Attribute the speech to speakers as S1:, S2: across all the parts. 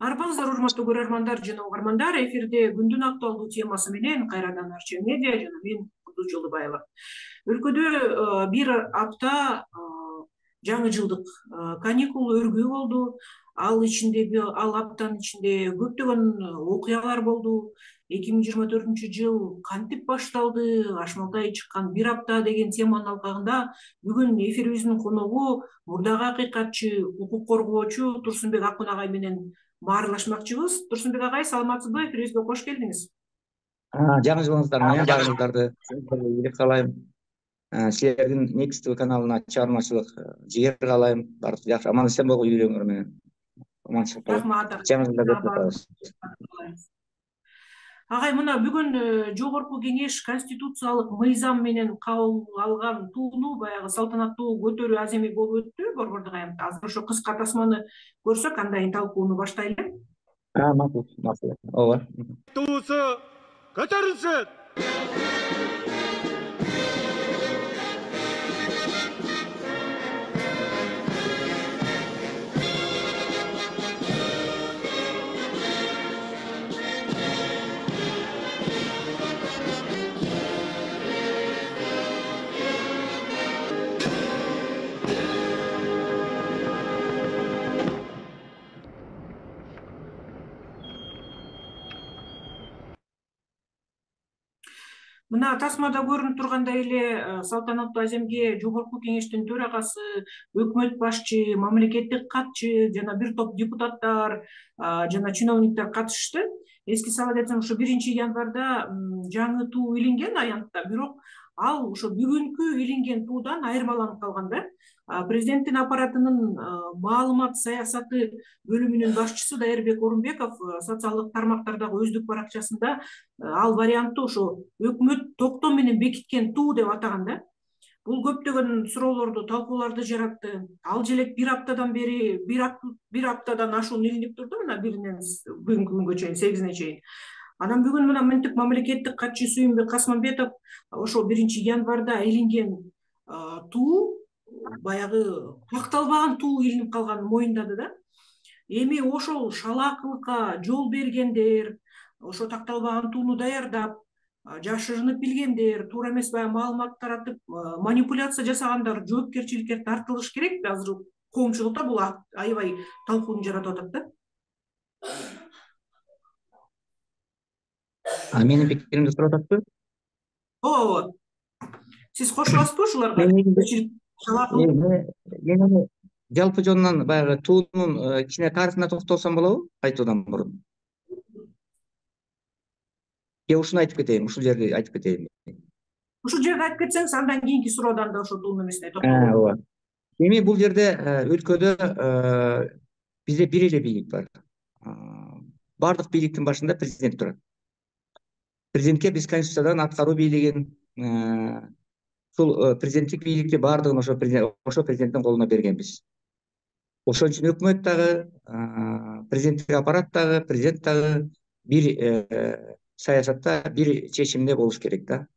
S1: Арбаңыздар урматтуу көрөрмандар жана угармандар, эфирде күндүн актуалдуу темасы менен кайрадан Арча медиа жана мен Кудус Жолдубаева. Өлкөдө бир апта жаңы жылдык каникул өргүү болду. Ал аптанын ичинде көптөгөн окуялар болду. 2024 жыл кантип башталды, Ашмалтай чыккан бир апта деген теманын алкагында бүгүн эфирибиздин коногу мурдагы акыйкатчы, укук коргоочу Турсунбек Акун агай менен баарлашмакчыбыз. Турсунбек агай, саламатсызбы? Эфирибизге кош келдиңиз.
S2: Жаңы жылыңыздар менен баарыңыздарды ийгилик каалайм. Силердин Next каналына чыгармачылык жигер каалайм. Баары жакшы, аман эсен болгула үйлөрүңөр менен. Аманчылык каалайм.
S1: Рахмат.
S2: Жаңы жылда көп кутабыз.
S1: Агай, мына бүгүн Жогорку Кеңеш конституциялык мыйзам менен кабыл алган тууну баягы салтанаттуу көтөрүү аземи болуп өттү Борбордук аянтта. Азыр ошо кыска тасманы көрсөк, андан талкууну баштайлы.
S2: Макул, ооба.
S3: Туусу көтөрүлсүн.
S1: Мына тасмада көрүнүп тургандай эле салтанаттуу аземге Жогорку Кеңештин төрагасы, өкмөт башчы, мамлекеттик катчы жана бир топ депутаттар жана чиновниктер катышты. Эске сала кетсем, ошо 1-январда жаңы туу илинген аянтта, бирок ал ошо бүгүнкү илинген туудан айырмаланып калган да. Президенттин аппаратынын маалымат саясаты бөлүмүнүн башчысы Дайырбек Орунбеков социалдык тармактардагы өздүк баракчасында ал вариантты ошо өкмөт токтом менен бекиткен туу деп атаган да. Бул көптөгөн суроолорду, талкууларды жаратты. Ал желек бир аптадан бери, бир аптадан ашуун илинип турду, мына 1-нен бүгүнкү күнгө чейин, 8-ине чейин. Анан бүгүн мына мынтип мамлекеттик катчы Сүйүнбек Касманбетов ошо 1-январда илинген туу баягы такталбаган туу илинип калганын моюндады да. Эми ошол шалаакылыкка жол бергендер, ошо такталбаган тууну даярдап, жашырынып билгендер, туура эмес баягы маалымат таратып, манипуляция жасагандар жоопкерчиликке тартылыш керек. Азыр коомчулукта бул аябай талкууну жаратып атат да.
S2: Менин пикиримди сурап атасызбы?
S1: Ооба. Сиз кошуласызбы ушуларга?
S2: Жалпы жонунан баягы туунун кичине тарыхына токтолсом болобу айтуудан мурун? Ушуну айтып кетейин, ушул жерди айтып кетейин.
S1: Ушул жерди айтып кетсеңиз, андан кийинки суроодан да ошо туунун эмесине токтолот.
S2: Ооба. Эми бул жерде өлкөдө бизде бир эле бийлик бар. Бардык бийликтин башында президент турат. Президентке биз Конституциядан аткаруу бийлигин, ушул президенттик бийликти баардыгын ошо президенттин колуна бергенбиз. Ошон үчүн өкмөт дагы, президенттик аппарат дагы, президент дагы бир саясатта, бир чечимде болуш керек да.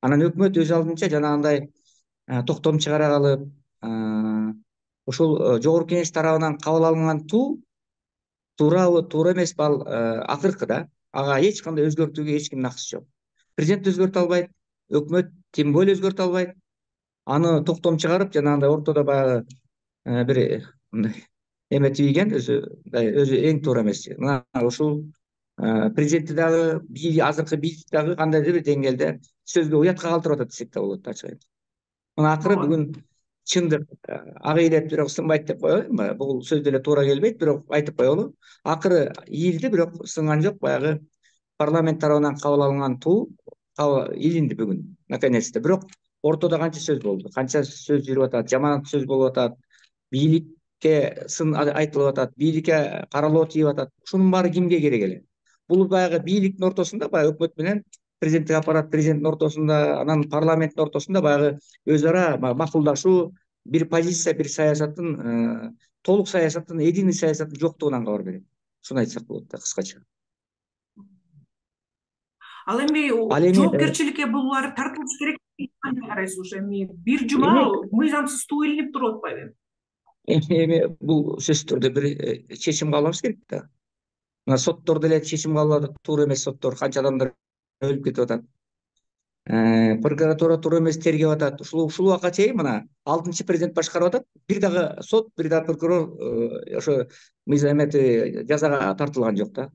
S2: Анан өкмөт өз алдынча жанагындай токтом чыгара калып, ушул Жогорку Кеңеш тарабынан кабыл алынган туу туурабы, туура эмеспи, ал акыркы да. Ага эч кандай өзгөртүүгө эч кимдин акысы жок. Президент өзгөртө албайт, өкмөт тем более өзгөртө албайт. Аны токтом чыгарып, жанагындай ортодо баягы бир эме тийген өзү эң туура эмес. Мына ушул президентти дагы, азыркы бийлик дагы кандайдыр бир деңгээлде сөзгө уятка калтырып атат десек да болот, ачык айтып. Мына акыры бүгүн чындык ак ийилет, бирок сынбайт деп коелу. Бул сөз деле туура келбейт, бирок айтып коелу. Акыры ийилди, бирок сынган жок. Баягы парламент тарабынан кабыл алынган туу илинди бүгүн, наконец-то. Бирок ортодо канча сөз болду, канча сөз жүрүп атат, жаман сөз болуп атат, бийликке сын айтылып атат, бийликке каралоо тийип атат. Ушунун баары кимге керек эле? Бул баягы бийликтин ортосунда, баягы өкмөт менен президенттик аппарат, президенттин ортосунда, анан парламенттин ортосунда баягы өз ара макулдашуу, бир позиция, бир саясаттын, толук саясаттын, единый саясаттын жоктугунан кабар берет. Ушуну айтсак болот да, кыскача.
S1: Ал эми жоопкерчиликке булар тартылыш керек деп карайсыз? Ошо эми бир жума мыйзамсыз туу илинип туруп атпайбы?
S2: Эми бул сөзсүз түрдө бир чечим кабыл алыш керек да. мына соттор деле чечим кабыл алып атат, туура эмес соттор, канча адамдар өлүп кетип атат. Прокуратура туура эмес тергеп атат. Ушул убакка чейин мына 6-чы президент башкарып атат. Бир дагы сот, бир дагы прокурор ошо эмети жазага тартылган жок да.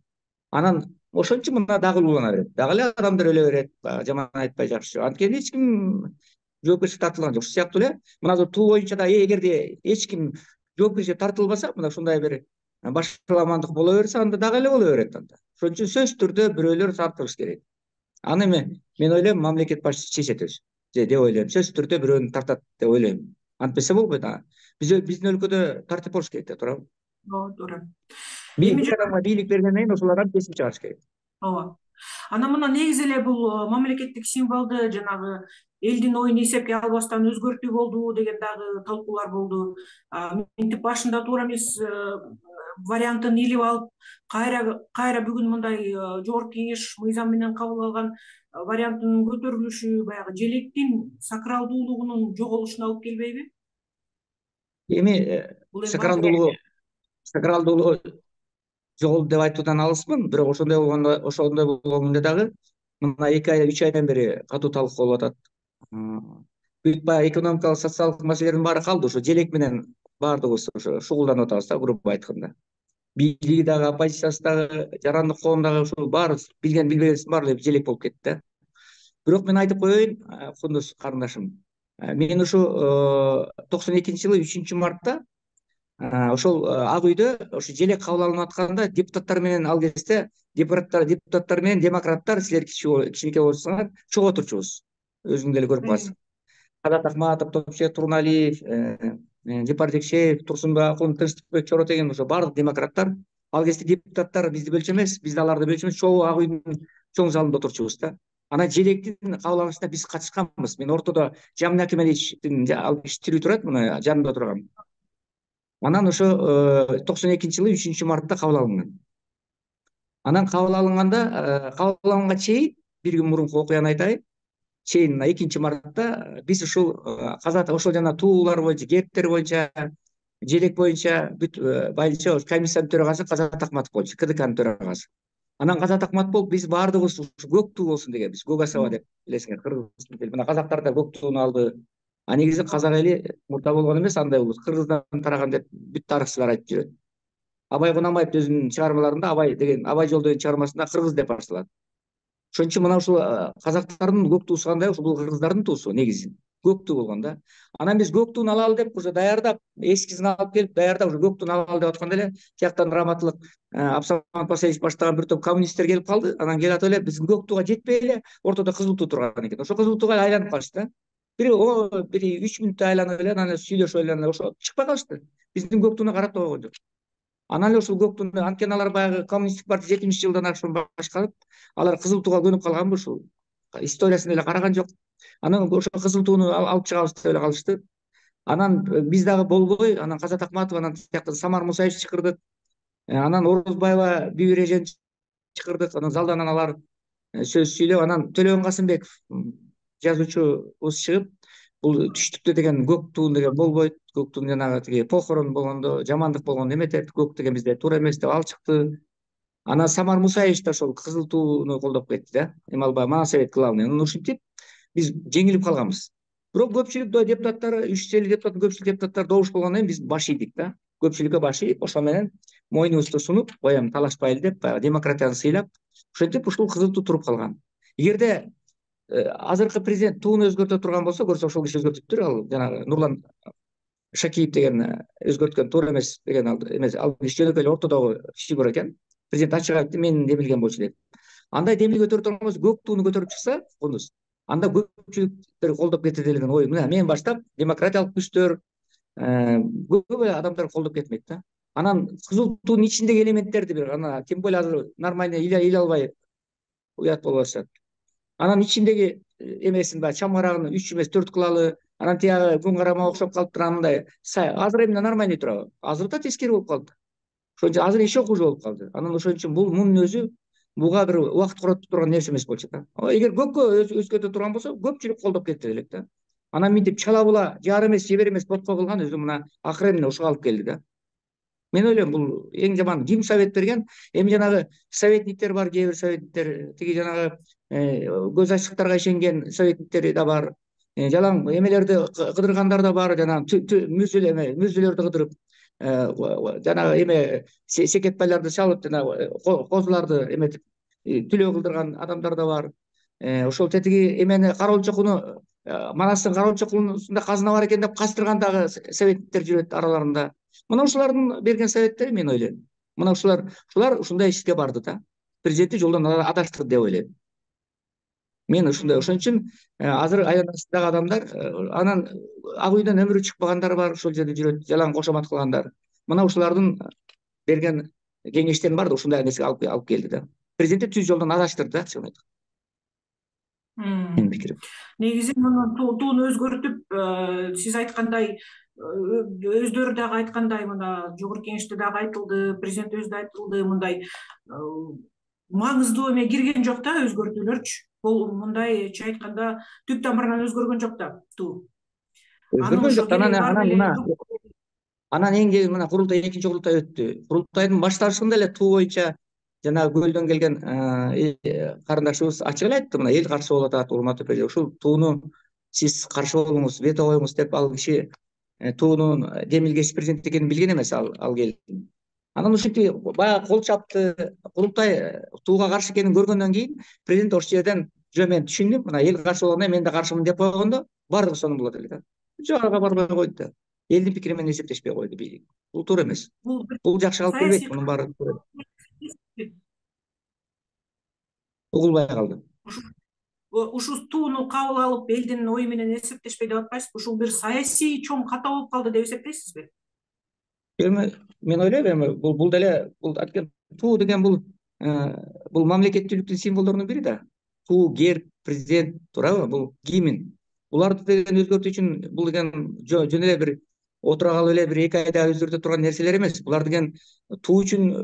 S2: Анан ошон үчүн мына дагы улуулана берет, дагы эле адамдар өлө берет, жаман айтпай жакшы. Анткени эч ким жоопкерчиликке тартылган жок. Ушул сыяктуу эле мына туу боюнча да эгерде эч ким жоопкерчиликке тартылбаса, мына ушундай бир башаламандык боло берсе, анда дагы эле боло берет анда. Ошон үчүн сөзсүз түрдө бирөөлөр тартылыш керек. Аны мен ойлойм мамлекет башчысы чечет өзү деп ойлойм. Сөзсүз түрдө бирөөнү тартат деп ойлойм. Антпесе болбойт. Биздин өлкөдө тартип болуш керек да, туурабы?
S1: Ооба, туура.
S2: Бир адамга бийлик бергенден кийин ошолордон кесип чыгарыш керек.
S1: Ооба. Анан мына негизи эле бул мамлекеттик символду жанагы элдин оюн эсепке албастан өзгөртүү болду деген дагы талкуулар болду. Мынтип башында туура эмес вариантын илип алып, кайра бүгүн мындай жогорку кеңеш мыйзам менен кабыл алган варианттын көтөрүлүшү баягы желектин сакралдуулугунун жоголушуна алып келбейби?
S2: Эми сакралдуулугу жоголду деп айтуудан алысмын, бирок ошондой болгондо дагы мына 2 ай 3 айдан бери катуу талкуу болуп атат. Бүт баягы экономикалык, социалдык маселелердин баары калды. Ошо желек менен баардыгыбыз ошо шугулданып атабыз да, грубо айтканда. Бийлиги дагы, оппозициясы дагы, жарандык коом дагы ушул баары билген билбегенсин баары эле желек болуп кетти да. Бирок мен айтып коеюн, кундуз карындашым. Мен ушу 92-жылы 3-мартта ошол ак үйдө ошо желек кабыл алынып атканда депутаттар менен ал кезде депутаттар менен демократтар, силер кичинекей болсоңор чогуу отурчубуз. Өзүң деле көрүп каласың. Казат Акматов, Топчек Турналиев, Жапар Жекшеев, Турсунбай Акун, Тынчтыкбек Чоротеген, ошо баардык демократтар ал кезде депутаттар бизди бөлчү эмес, биз да аларды бөлчү эмес, чогуу ак үйдүн чоң залында отурчубуз да. Анан желектин кабыл алынышына биз катышканбыз. Мен ортодо Жамин Акимовичтин ал киши тирүү турат, мына жанында турган. Анан ошо 92-жылы 3-мартта кабыл алынган. Анан кабыл алынганга чейин бир күн мурунку окуяны айтайын. Чейин 2-мартта биз ушул ошол жана туулар боюнча, кептер боюнча, желек боюнча бүт байынча комиссиянын төрагасы Казат Акматов болчу, КДКнын төрагасы. Анан Казат Акматов биз баардыгыбыз көк туу болсун дегенбиз. Гогасова деп билесиңер, кыргыз тили. Мына казактар да көк тууну алды. Негизи казак эли мурда болгон эмес, андай улут, кыргыздан тараган деп бүт тарыхчылар айтып жүрөт. Абай Кунанбаев өзүнүн чыгармаларында Абай жол деген чыгармасында кыргыз деп башталат. Ошон үчүн мына ушул казактардын көк туусу кандай, ушул кыргыздардын туусу негизи көк туу болгон да. Анан биз көк тууну алалы деп уже даярдап, эскизин алып келип даярдап уже көк тууну алалы деп атканда эле тияктан раматтылык Абсамат Пасалевич баштаган бир топ коммунисттер келип калды. Анан келип атып эле биздин көк тууга жетпей эле ортодо кызыл туу турган экен. Ошо кызыл тууга айланып калышты да. Бир 3 мүнөттөй айланып эле анан сүйлөшүп эле ошо чыкпай калышты. Биздин көк тууну карап да койгон жок. Анан эле ушул көк тууну, анткени алар баягы коммунисттик партия 70-жылдан ашуун башкарып, алар кызыл тууга көнүп калганбы, ушул историясын эле караган жок. Анан ошо кызыл тууну алып чыгабыз деп эле калышты. Анан биз дагы болбой, анан Казат Акматов, анан тияктан Самар Мусаевич чакырдык. Анан Орозбаева Бибир эжени чакырдык. Анан залдан алар сөз сүйлөп, анан Төлөгөн Касымбеков жазуучубуз чыгып, бул түштүктө деген көк туу деген болбойт, көк туунун жанагы тиги похорон болгондо, жамандык болгондо эметет, көк деген бизде туура эмес деп ал чыкты. Анан Самар Мусаевич да ошол кызыл тууну колдоп кетти да. Эми ал баягы Моносовет главный. Анан ушинтип биз жеңилип калганбыз. Бирок көпчүлүк депутаттар, 350 депутаттын көпчүлүк депутаттар добуш болгондон кийин биз баш ийдик да. Көпчүлүккө баш ийип, ошо менен моюнубузду сунуп, коем талашпайлы деп, баягы демократияны сыйлап, ошентип ушул кызыл туу туруп калган. Эгерде азыркы президент тууну өзгөртө турган болсо, көрсө ошол киши өзгөртүптүр, ал жанагы Нурлан Шакиев деген өзгөрткөн туура эмес деген ал эмес, ал киши жөнөкөй эле ортодогу фигура экен. Президент ачык айтты, мен демилген болчу деп. Андай демил көтөрүп турган болсо, көк тууну көтөрүп чыкса, кундуз, анда көпчүлүктөр колдоп кетет деген ой. Мына мен баштап демократиялык күчтөр, көп адамдар колдоп кетмек да. Анан кызыл туунун ичиндеги элементтерди бир ана тем более азыр нормально иле албай уят болуп атышат. Анан ичиндеги эмесин баягы чамгарагын 3 эмес 4 кылалы. Анан тиягы күн карама окшоп калыптыр, андай азыр эми нормальный турабы? Азыр да тескери болуп калды. Ошон үчүн азыр еще хуже болуп калды. Анан ошон үчүн мунун өзү буга бир убакыт коротуп турган нерсе эмес болчу да. Эгер көккө өзгөртө турган болсо, көпчүлүк колдоп кетти элек да. Анан мынтип чала була жар эмес, жебер эмес ботко кылган өзү мына акыры эмне ушуга алып келди да. Мен ойлойм бул эң жаман ким совет берген? Эми жанагы советниктер бар, кээ бир советниктер, тиги жанагы көз ачыктарга ишенген советниктер да бар. Жалаң эмелерди кыдыргандар да бар, жанагы мүзүлөрдү кыдырып, жанагы эме секетпайларды чалып, жанагы козуларды эметип түлөө кылдырган адамдар да бар. Ошол тетиги эмени Кароол чокуну, Манастын Кароол чокунусунда казына бар экен деп кастырган дагы советниктер жүрөт араларында. Мына ушулардын берген советтери, мен ойлойм. Мына ушулар ушундай ишке барды да. Президентти жолдон адаштырды деп ойлойм. Мен ушундай. Ошон үчүн азыр айланасындагы адамдар, анан ак үйдөн өмүрү чыкпагандар бар, ошол жерде жүрөт, жалаң кошомат кылгандар. Мына ушулардын берген кеңештерин баары ушундай нерсеге алып келди да. Президентти түз жолдон адаштырды да, чын айтканда. Менин пикирим.
S1: Негизи муну тууну өзгөртүп, сиз айткандай, өздөрү дагы айткандай, мына жогорку кеңеште дагы айтылды, президент өзү да айтылды, мындай маңыздуу эме кирген жок да, өзгөртүүлөрчү. Бул мындайча айтканда түп тамырынан өзгөргөн жок да туу.
S2: Өзгөргөн жок. Анан эң кең мына курултай, экинчи курултай өттү. Курултайдын башталышында эле туу боюнча жанагы көлдөн келген карындашыбыз ачык эле айтты, мына эл каршы болуп атат, урматтуу президент, ушул тууну сиз каршы болуңуз, вето коюңуз деп. Ал киши туунун демилгеч президент экенин билген эмес, ал келин. Анан ушинтип баягы кол чапты. Курултай тууга каршы экенин көргөндөн кийин президент ошол жерден жөө мен түшүндүм, мына эл каршы болгондо мен да каршымын деп койгондо баардыгы сонун болот эле да. Жогорку барбай койду да. Элдин пикири менен эсептешпей койду бийлик. Бул туура эмес. Бул жакшы алып келбейт, мунун баары угулбай калды.
S1: Ушул тууну кабыл алып, элдин ою менен эсептешпей деп атпайсызбы? Ушул бир саясий чоң ката болуп калды деп эсептейсизби?
S2: Мен ойлойм, эми бул деле туу деген бул мамлекеттүүлүктүн символдорунун бири да. Туу, герб, президент, туурабы? Бул гимн. Буларды деген өзгөртүү үчүн бул деген жөн эле бир отура калып эле бир 2 айда өзгөртө турган нерселер эмес. Булар деген туу үчүн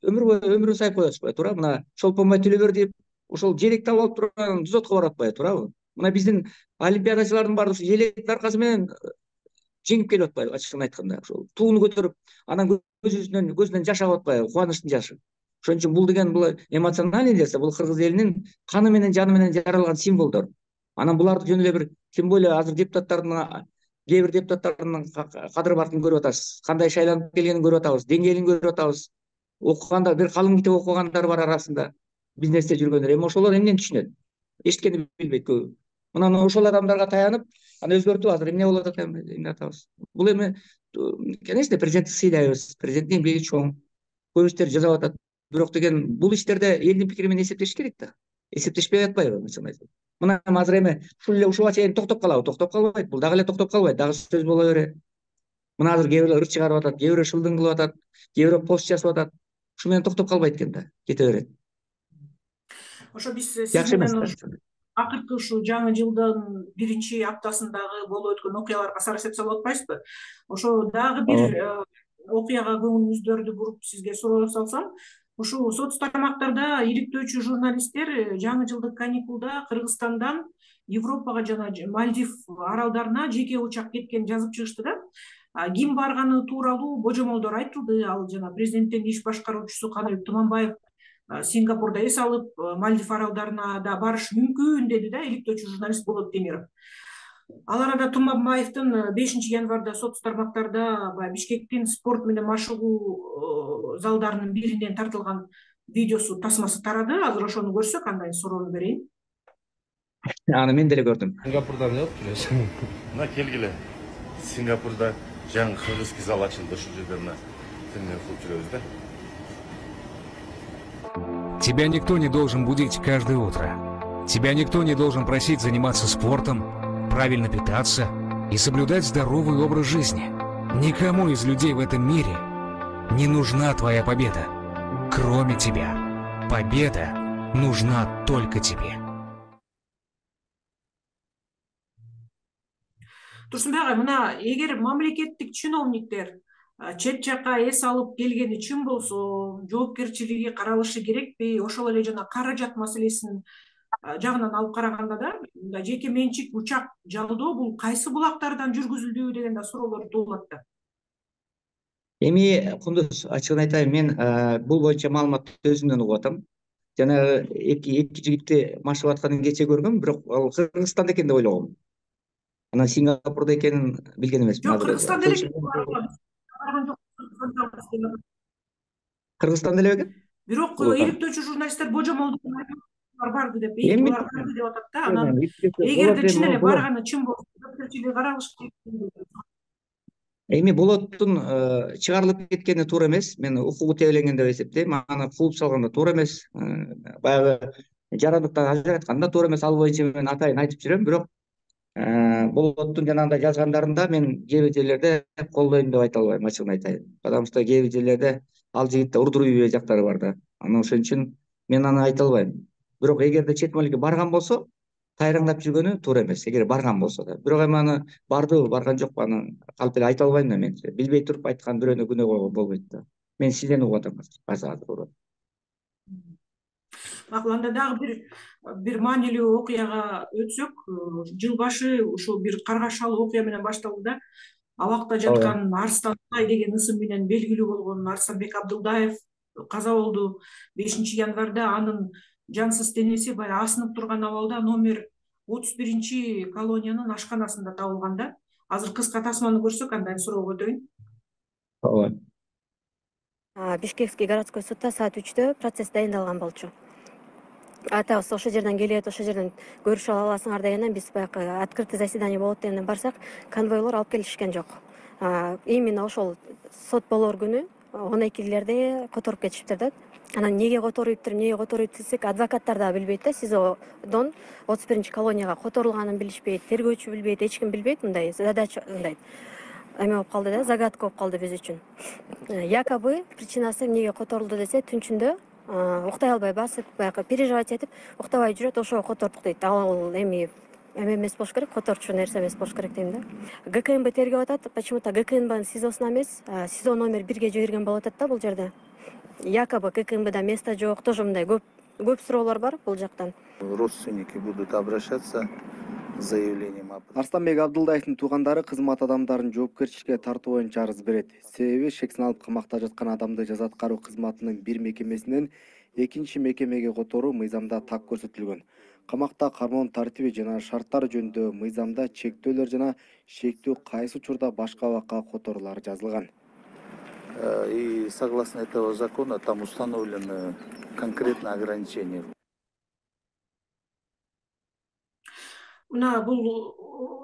S2: өмүрү сайып коюп атышпайбы, туурабы? Мына Шолпонбай Төлөбөр деп ошол желекти алып турган дзотко барып атпайбы, туурабы? Мына биздин олимпиадачылардын баары ушул желектин аркасы менен жеңип келип атпайбы, ачыгын айтканда. Ошол тууну көтөрүп, анан көзүнөн жаш агып атпайбы, кубанычтын жашы. Ошон үчүн бул деген бул эмоциональный нерсе, бул кыргыз элинин каны менен, жаны менен жаралган символдор. Анан буларды жөн эле бир, тем более азыр депутаттардын, кээ бир депутаттардын кадыр баркын көрүп атасыз, кандай шайланып келгенин көрүп атабыз, деңгээлин көрүп атабыз. Окугандар, бир калың китеп окугандар бар арасында, бизнесте жүргөндөр. Эми ошолор эмнени түшүнөт? Эчкени билбейт көбү. Мына ошол адамдарга таянып, аны өзгөртүп азыр эмне болуп атат, эмне атабыз. Бул эми, конечно, президентти сыйлайбыз, президенттин эмгеги чоң, көп иштер жасап атат. Бирок деген бул иштерде элдин пикири менен эсептеш керек да. Эсептешпей атпайбы, чын айтып. Мына азыр эми ушул эле ушуга чейин токтоп калабы? Токтоп калбайт. Бул дагы эле токтоп калбайт, дагы сөз боло берет. Мына азыр кээ бирлер ырч чыгарып атат, кээ бирлер шылдың кылып атат, кээ бирлер пост жасап атат. Ушу менен токтоп калбайт экен да, кете берет.
S1: Ошо биз сиз менен акыркы ушул жаңы жылдын биринчи аптасындагы болуп өткөн окуяларга сарас этсе болот атпайсызбы? Ошо дагы бир окуяга көңүлүңүздөрдү буруп сизге суроо салсам, ушул соц тармактарда иликтөөчү журналисттер жаңы жылдык каникулда Кыргызстандан Европага жана Мальдив аралдарына жеке учак кеткенин жазып чыгышты да. Ким барганы тууралуу божомолдор айтылды. Ал жана президенттин иш башкаруучусу Каныбек Туманбаев Сингапурда эс алып, Мальдив аралдарына да барыш мүмкүн деди да, иликтөөчү журналист Болот Темиров. Ал арада Туманбаевдин 5 январда соц тармактарда Бишкектин спорт менен машыгуу залдарынын биринен тартылган видеосу, тасмасы тарады. Азыр ошону көрсөк, андан суроону берейин.
S2: Аны мен деле көрдүм.
S4: Сингапурда эмне болуп жүрөсүң?
S3: Мына келгиле. Сингапурда жаңы кыргызский зал ачылды, ушул жерде мына тилинен кылып жүрөбүз да.
S5: Тебя никто не должен будить каждое утро. Тебя никто не должен просить заниматься спортом, правильно питаться и соблюдать здоровый образ жизни. Никому из людей в этом мире не нужна твоя победа, кроме тебя. Победа нужна только тебе.
S1: Турсунбек агай, мына эгер мамлекеттик чиновниктер чет жака эс алып келгени чын болсо, жоопкерчилиги каралышы керекпи? Ошол эле жана каражат маселесин жагынан алып караганда да, жеке менчик учак жалдоо бул кайсы булактардан жүргүзүлдү деген да суроолор туулат да.
S2: Эми Кундуз, ачыгын айтайын, мен бул боюнча маалыматты өзүмдөн угуп атам. Жанагы эки жигитти машыгып атканын кече көргөм, бирок ал Кыргызстанда экен деп ойлогом. Анан Сингапурда экенин билген эмесмин
S1: Жок,
S2: азыр.
S1: Кыргызстанда эле
S2: Кыргызстанда эле бекен?
S1: бирок иликтөөчү журналисттер божомолдук барды деп,
S2: Эми
S1: булар барды деп атат да. Анан эгерде чын эле барганы чын болсо, жоопкерчилиги каралышы керек.
S2: Эми болоттун чыгарылып кеткени туура эмес. Мен укугу тебеленген деп эсептейм. Аны кууп салган да туура эмес. Баягы жарандыктан ажыраткан да туура эмес. Ал боюнча мен атайын айтып жүрөм. Бирок болоттун жанагындай жазгандарында мен кээ бир жерлерде колдойм деп айта албайм, ачыгын айтайын. Потому что кээ бир жерлерде ал жигитте урдуруй жактары бар да. Анан ошон үчүн мен аны айта албайм. Бирок эгерде чет мамлекетке барган болсо, тайраңдап жүргөнү туура эмес. Эгер барган болсо да. Бирок эми аны бардыбы, барган жокпу, аны калп эле айта албайм да мен. Билбей туруп айткан бирөөнү күнөө койгон болбойт да. Мен сизден угуп атам азыр.
S1: Макул, анда дагы бир маанилүү окуяга өтсөк, жыл башы ушул бир каргашалуу окуя менен башталды да. Абакта жаткан Арстанбай деген ысым менен белгилүү болгон Арстанбек Абдылдаев каза болду. 5-январда анын жансыз денеси баягы асынып турган абалда номер 31 колониянын ашканасында табылган да. Азыр кыска тасманы көрсөк, андан суроого өтөйүн.
S2: Ооба.
S4: Бишкекский городской судда саат 3-тө процесс дайындалган болчу. Атабыз ошол жерден келет, ошол жерден көрүшүп аласыңар дегенден биз баягы открытый заседание болот дегенден барсак, конвойлор алып келишкен жок. Именно ошол сот болор күнү 12-лерде которуп кетишиптир да. Анан эмнеге которуйт десек, адвокаттар да билбейт да, СИЗОдон 31 колонияга которулганын билишпейт, тергөөчү билбейт, эч ким билбейт. Мындай задача, мындай эме болуп калды да, загадка болуп калды биз үчүн. Якобы причинасы эмнеге которулду десе, түнчүндө уктай албай басып, баягы переживать этип, уктабай жүрөт, ошого котордук дейт. Ал эми эмес болуш керек, которчу нерсе эмес болуш керек дейм да. ГКМБ тергеп атат, почему-то ГКМБнын СИЗОсуна эмес, СИЗО номер 1-ге жиберген болуп атат да бул жерде. Якобы ГКМБда место жок, тоже мындай көп суроолор бар бул жактан.
S6: Родственники будут обращаться с заявлением.
S7: Арстанбек Абдылдаевдин туугандары кызмат адамдарын жоопкерчиликке тартуу боюнча арыз берет. Себеби шексин алып камакта жаткан адамды жаза аткаруу кызматынын бир мекемесинен экинчи мекемеге которуу мыйзамда так көрсөтүлгөн. Камакта кармоонун тартиби жана шарттары жөнүндө мыйзамда чектөөлөр жана шектүү кайсы учурда башка абакка которулары жазылган.
S6: И согласно этого закона там установлены конкретные ограничения.
S1: Мына бул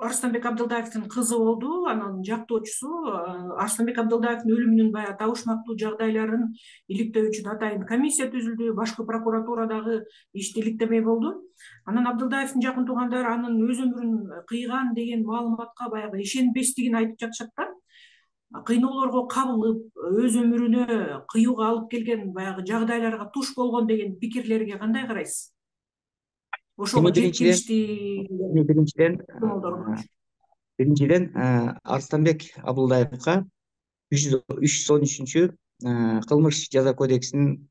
S1: Арстанбек Абдылдаевдин кызы болду. Анын жактоочусу Арстанбек Абдылдаевдин өлүмүнүн баягы табышмактуу жагдайларын иликтөө үчүн атайын комиссия түзүлдү. Башкы прокуратурадагы ишти иликтемей болду. Анан Абдылдаевдин жакын туугандары анын өз өмүрүн кыйган деген маалыматка баягы ишенбестигин айтып жатышат да. Кыйноолорго кабылып, өз өмүрүнө кыюуга алып келген баягы жагдайларга туш болгон деген пикирлерге кандай карайсыз? Ошого
S2: биринчиден Арстанбек Абдылдаевга 313 кылмыш жаза кодексинин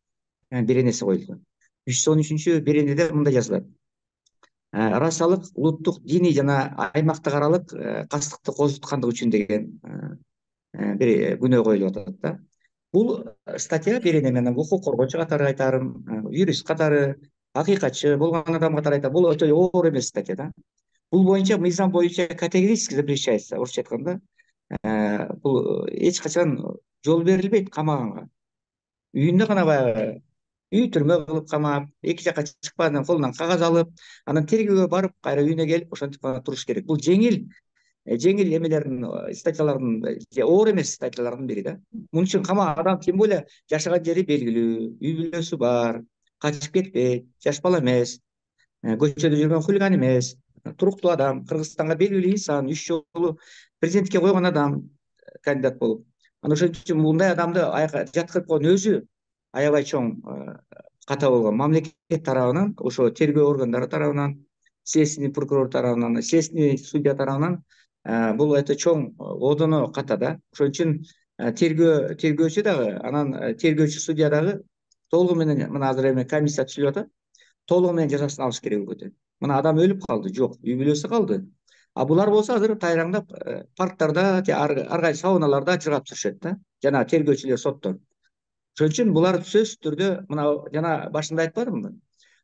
S2: беренеси коюлду. 313 беренеде мындай жазылат: расалык, улуттук, диний жана аймактык аралык кастыкты козуткандык үчүн деген бир күнөө коюлуп атат да. Бул статья берене менен укук коргоочу катары айтарым, юрист катары, акыйкатчы болгон адам катары айтам, бул өтө оор эмес статья да. Бул боюнча мыйзам боюнча категорически запрещается, орусча айтканда. Бул эч качан жол берилбейт камаганга. Үйүндө гана баягы үй түрмө кылып камап, эки жакка чыкпагандан колунан кагаз алып, анан тергөөгө барып, кайра үйүнө келип ошентип гана туруш керек. Бул жеңил эмелердин, статьялардын, оор эмес статьялардын бири да. Муну үчүн адам тем более жашаган жери белгилүү, үй бүлөсү бар, качып кетпейт, жаш бала эмес, көчөдө жүргөн хулиган эмес, туруктуу адам, Кыргызстанга белгилүү инсан, 3 жолу президентке койгон адам, кандидат болуп. Анан ошон үчүн мындай адамды жаткырып койгон өзү аябай чоң ката болгон. Мамлекет тарабынан, ошо тергөө органдары тарабынан, следственный прокурор тарабынан, следственный судья тарабынан бул өтө чоң одоно ката да. Ошон үчүн тергөөчү дагы, анан тергөөчү судья дагы толугу менен, мына азыр эме комиссия түзүлүп атат, толугу менен жазасын алыш керек өкөтө. Мына адам өлүп калды, жок, үй бүлөсү калды. Булар болсо азыр тайраңдап парктарда, ар кайсы сауналарда жыргап жүрүшөт да. жана тергөөчүлөр, соттор. Ошон үчүн булар сөзсүз түрдө мына жана башында айтпадымбы?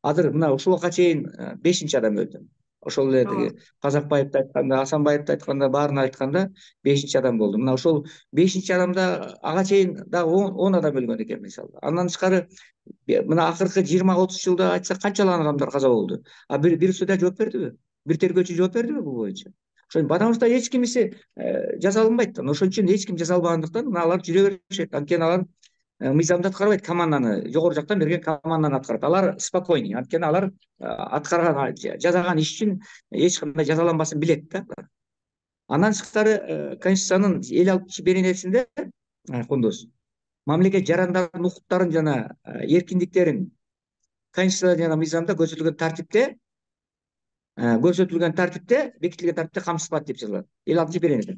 S2: Азыр мына ушуга чейин 5-чи адам өлдү. Ошол эле тиги Казакбаевди айтканда, Асанбаевди айтканда, баарын айтканда 5-чи адам болду. Мына ошол 5-чи адамда ага чейин дагы 10 адам өлгөн экен мисалы. Андан тышкары мына акыркы 20-30 жылда айтсак канчалаган адамдар каза болду. А бир суда жооп бердиби? Бир тергөөчү жооп бердиби бул боюнча? Потому что эч кимиси жазалынбайт. Ошон үчүн эч ким жазалбагандыктан мына алар жүрө беришет. Анткени алар мыйзамды аткарбайт, команданы, жогору жактан берген команданы аткарат. Алар спокойный, анткени алар аткарган, жасаган иш үчүн эч кандай жазаланбасын билет да. Андан тышкары Конституциянын 56-беренесинде Кундуз мамлекет жарандардын укуктарын жана эркиндиктерин Конституцияда жана мыйзамда көрсөтүлгөн тартипте бекитилген тартипте камсызбайт деп жазылат. 56-беренеде.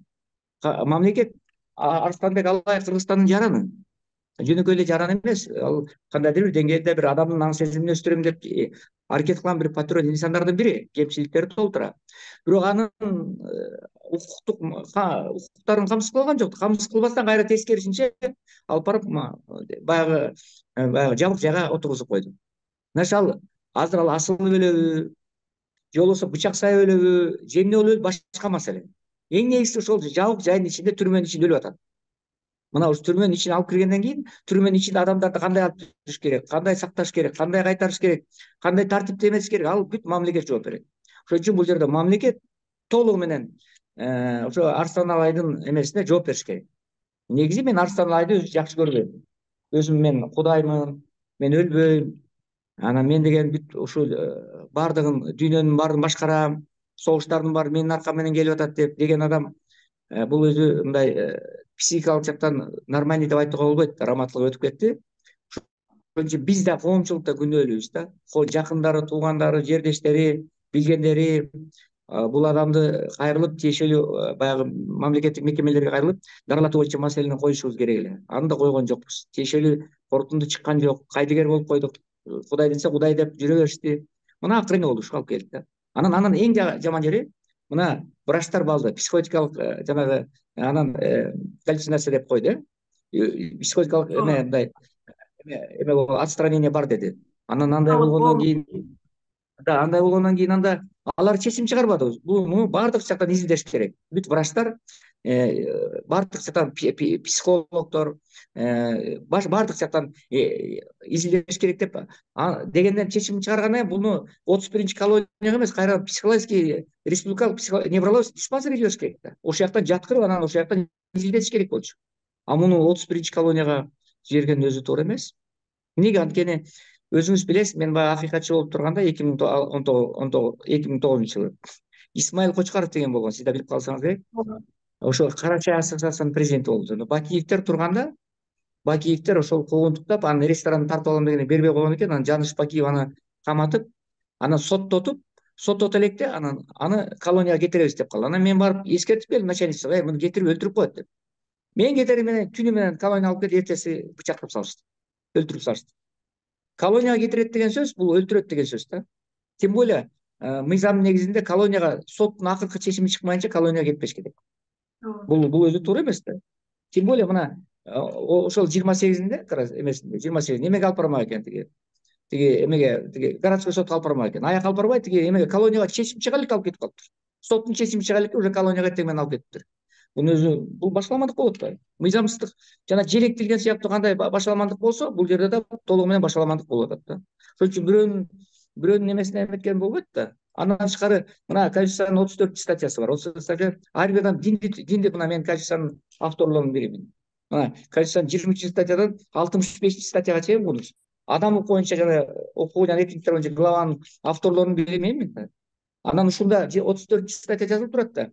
S2: Мамлекет Арыстанбек Албаев Кыргызстандын жараны. Жөнөкөй эле жаран эмес, ал кандайдыр бир деңгээлде бир адамдын аң сезимин өстүрөм деп аракет кылган бир патриот инсандардын бири, кемчиликтери толтура. Бирок анын укуктарын камсыз кылган жок. Камсыз кылбастан кайра тескерисинче алып барып баягы жабык жайга отургузуп койду. Ал азыр ал асылып өлөбү, же болбосо бычак сайып өлөбү, же эмне болуп өлөбү башка маселе. Эң негизгиси ошол жабык жайдын ичинде, түрмөнүн ичинде өлүп атат. Мына ушу түрмөнүн ичине алып киргенден кийин түрмөнүн ичинде адамдарды кандай алып жүрүш керек, кандай сакташ керек, кандай кайтарыш керек, кандай тартипте эмес керек, ал бүт мамлекет жооп берет. Ошон үчүн бул жерде мамлекет толугу менен ошо Арстан Алайдын эмесине жооп бериш керек. Негизи мен Арстан Алайды жакшы көрбөйм. Өзүм мен кудаймын, мен өлбөйм. Анан мен деген бүт ушул баардыгын, дүйнөнүн баарын башкарам, согуштардын баары менин аркам менен келип атат деген адам бул өзү мындай психикалык жактан нормальный деп айтууга болбойт, раматтылык өтүп кетти. Ошон үчүн биз да коомчулукта күнөөлүүбүз да. Жакындары, туугандары, жердештери, билгендери бул адамды кайрылып, тиешелүү баягы мамлекеттик мекемелерге кайрылып, дарылатуу боюнча маселени коюшубуз керек эле. Аны да койгон жокпуз. Тиешелүү корутунду чыккан жок. Кайдыгер болуп койдук. Кудай десе Кудай деп жүрө беришти. Мына акыры эмне болду, ушуга алып келди да. Анын эң жаман жери мына врачтар балды, психологиялык жанагы анан галлюцинация деп койду. Психологиялык мындай отстранение бар деди. Анан андай болгондон кийин анда алар чечим чыгарбады. Буну баардык жактан изилдеш керек. Бүт врачтар, баардык жактан психологдор, баардык жактан изилдеш керек деп дегенден чечим чыгаргандан кийин буну 31-чи колонияга эмес, кайра психологический республикалык неврологический диспансерге жибериш керек да. Ошол жактан жаткырып, анан ошол жактан изилдетиш керек болчу. А муну 31-чи колонияга жиберген өзү туура эмес. Эмнеге? Анткени өзүңүз билесиз, мен баягы акыйкатчы болуп турганда 2009 жылы Исмаил Кочкаров деген болгон, сиз да билип калсаңыз керек. Ошо Кара чай ассоциациясынын президенти болду. Бакиевдер турганда, Бакиевдер ошол куугунтуктап, анын ресторанын тартып алам дегенде бербей койгон экен. Анан Жаныш Бакиев аны каматып, анан соттото электе, анан аны колонияга кетиребиз деп калды. Анан мен барып эскертип келдим начальниктен, муну кетирип өлтүрүп коет деп. Мен кетери менен түнү менен колонияга алып кетип, эртеси бычактап салышты. Өлтүрүп салышты. Колонияга кетирет деген сөз бул өлтүрөт деген сөз да. Тем более мыйзамдын негизинде колонияга соттун акыркы чечими чыкмайынча колонияга кетпеш керек. Бул өзү туура эмес да. Тем более мына ошол 28-inde эмесинде 28 эмеге алып бармак экен тиги эмеге городской сотко алып бармак экен. Аяк алып барбай тиги эмеге колонияга чечим чыга элек алып кетип калыптыр. Соттун чечими чыга электе уже колонияга эртең менен алып кетиптир. Бул өзү бул башаламандык болот да. Мыйзамсыздык жана желектилген сыяктуу кандай башаламандык болсо, бул жерде да толугу менен башаламандык болуп атат да. Ошон үчүн бирөөнүн эмесине эметкен болбойт да. Андан тышкары мына Конституциянын 34 статьясы бар. 34 статья ар бир адам динди мына мен Конституциянын авторлорунун биримин. Мына Конституциянын 23 статьядан 65 статьяга чейин бул адам укугу боюнча жана укугу жана эркиндиктер боюнча главанын авторлорунун бири менмин да. Анан ушунда 34 статья жазылып турат да.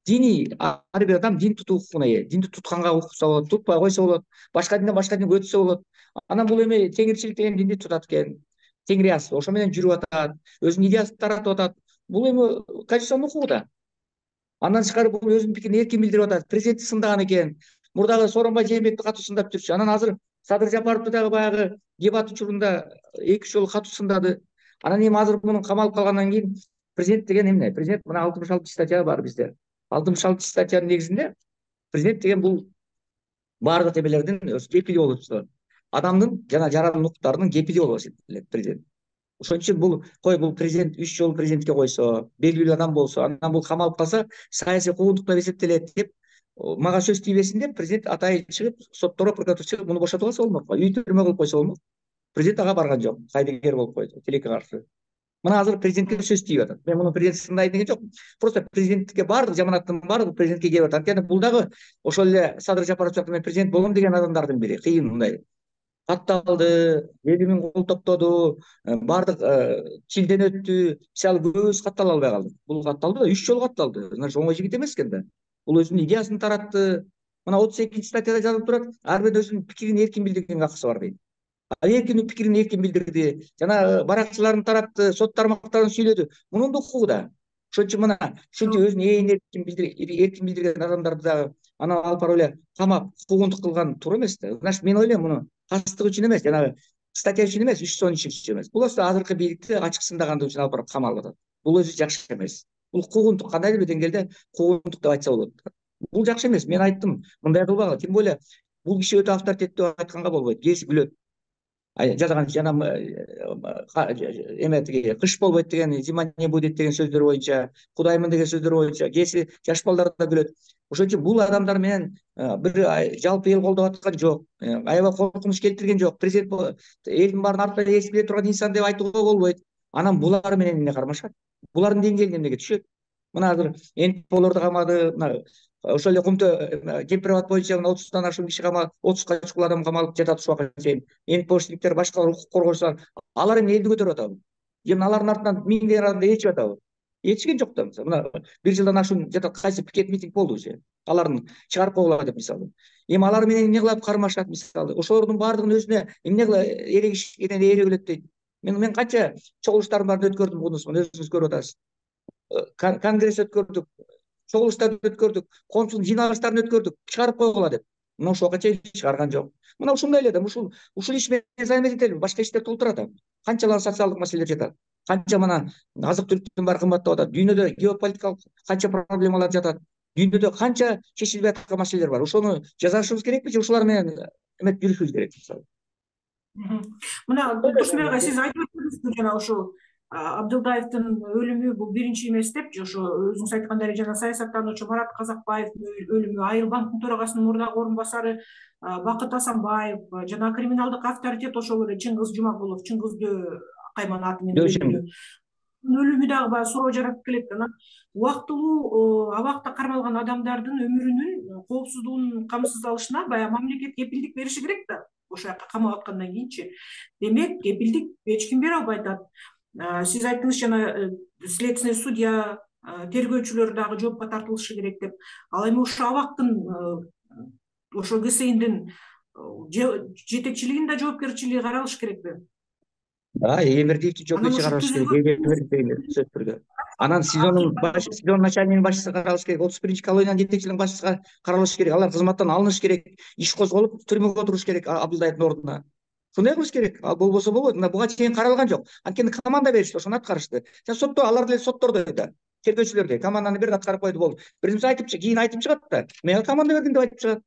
S2: Дини ар бир адам дин тутуу укугуна ээ. Динди тутканга укса болот, тутпай койсо болот, башка динден башка динге өтсө болот. Анан бул эми теңирчилик деген динди тутат экен. Теңирияс ошо менен жүрүп атат, өзүнүн идеясын таратып атат. Бул эми Конституциянын укугу да. Андан тышкары бул өзүнүн пикирин эркин билдирип атат. Президентти сындаган экен. Мурдагы Сооронбай Жээнбекти катуу сындап жүрчү. Анан азыр Садыр Жапаровду дагы баягы дебат учурунда 2-3 жолу катуу сындады. Анан эми азыр мунун камалып калгандан кийин президент деген эмне? Президент мына 66 статья бар бизде. 66 статьянын негизинде президент деген бул баардык эмелердин кепили болуп турат. Адамдын жана жарандыктардын кепили болуп эсептелет президент. Ошон үчүн бул президент 3 жолу президентке койсо, белгилүү адам болсо, анан бул камалып калса саясий куугунтук деп эсептелет деп мага сөз тийбесин деп президент атайын чыгып, сотторго прокуратура чыгып муну бошотуп алса болмок. Үй түрмө кылып койсо болмок. Президент ага барган жок. Кайдыгер болуп койду, тилекке каршы. Мына азыр президентке сөз тийип атат. Мен муну президент сындайт деген жокмун. Просто президенттикке баардык жаманаттын баардыгы президентке келип атат. Анткени бул дагы ошол эле Садыр Жапаров мен президент болом деген адамдардын бири. Кыйын мындай. Катталды, 50 000 кол топтоду, баардык чилден өттү. Мисалы көбүбүз каттала албай калдык. Бул катталды да, 3 жолу катталды. Значит, оңой жигит эмес экен да. Бул өзүнүн идеясын таратты. Мына 32 статьяда жазылып турат. Ар бир өзүнүн пикирин эркин билдиргенге акысы бар дейт. Эркин пикирин эркин билдирди. Жана баракчыларын таратты, сот тармактарын сүйлөдү. Мунун да укугу да. Ошон үчүн мына ушунча өзүнүн эркин билдирген адамдарды дагы анан алып барып эле камап, куугунтук кылган туура эмес да. Значит, мен ойлойм муну кастык үчүн эмес, жанагы статья үчүн эмес, 3 сонун иш үчүн эмес. Бул азыркы бийликти ачык сындагандыгы үчүн алып барып камалып атат. Бул өзү жакшы эмес. Бул куугунтук, кандайдыр бир деңгээлде куугунтук деп айтса болот. Бул жакшы эмес. Мен айттым, мындай кылбагыла. Тем более бул киши өтө авторитеттүү айтканга болбойт. Кээси күлөт. Жазган жана эме тиги кыш болбойт деген, зима не будет деген сөздөр боюнча, кудаймын деген сөздөр боюнча кээси жаш балдар да күлөт. Ошон үчүн бул адамдар менен бир жалпы эл колдоп аткан жок, аябай коркунуч келтирген жок. Президент элдин баарын артынан эс биле турган инсан деп айтууга болбойт. Анан булар менен эмне кармашат? Булардын деңгээлине эмнеге түшөт? Мына азыр НПОлорду камады, мына ошол эле Кумтө Кемпирабад боюнча 30 ашуун киши камалып, 30га чукул адам камалып жатат ушуга чейин. НПОшниктер, башка укук коргоочулар, алар эмне элди көтөрүп атабы? Же алардын артынан миңдеген адамды ээрчип атабы? Ээрчиген жок да. Мына 1 жылдан ашуун жатат, кайсы пикет митинг болду же? Алардын чыгарып койгула деп мисалы. Эми алар менен эмне кылып кармашат мисалы? Ошолордун баардыгын өзүнө эмне кыла эрегишкенен ээре билет дейт. Мен канча чогулуштардын баарын өткөрдүм, мунусун өзүңүз көрүп атасыз. Конгресс өткөрдүк, чогулуштарды өткөрдүк, коомчулук жыйналыштарын өткөрдүк, чыгарып койгула деп. Мына ошого чейин чыгарган жок. Мына ушундай эле да, ушул иш менен займет этели, башка иштер толтура атам. Канчалар социалдык маселелер жатат. Канча мына азык-түлүктүн баары кымбаттап атат. Дүйнөдө геополитикалык канча проблемалар жатат. Дүйнөдө канча чечилбей аткан маселелер бар. Ошону жазышыбыз керекпи же ушулар менен эмет жүрүшүбүз керек мисалы?
S1: Мына Турсунбек ага, сиз айтып өттүңүз жана ошол Абдылдаевдин өлүмү бул биринчи эмес деп, же ошо өзүңүз айткандай жана саясаттануучу Марат Казакбаевдин өлүмү, Айыл банктын төрагасынын мурдагы орун басары Бакыт Асанбаев жана криминалдык авторитет ошол эле Чыңгыз Жумагулов, Чыңгызды Акайман аты менен өлүмү дагы баягы суроо жаратып келет. Анан убактылуу абакта кармалган адамдардын өмүрүнүн коопсуздугунун камсыздалышына баягы мамлекет кепилдик бериши керек да. Ошол жака камап аткандан кийинчи. Демек, кепилдик эч ким бере албай атат. Сиз айттыңыз жана следственный судья, тергөөчүлөр дагы жоопко тартылышы керек деп. Ал эми ошо абактын ошо ГСИндин жетекчилигинин да жоопкерчилиги каралыш керекпи?
S2: Эмирдиевди жоопкерчиликке каралыш керек, сөзсүз түрдө. Анан сезон начальнигинин башчысы каралыш керек, 31 колониянын жетекчилигинин башчысы каралыш керек. Алар кызматтан алыныш керек, иш козголуп түрмөгө отуруш керек Абдылдаевдин ордуна. Ушундай кылыш керек. Ал болбосо болбойт. Мына буга чейин каралган жок. Анткени команда беришти, ошону аткарышты. Жана сотто алар деле соттордой да. Тергөөчүлөрдө команданы берди, аткарып койду, болду. Биринчи кийин айтып чыгат да. Мен команда бердим деп айтып чыгат.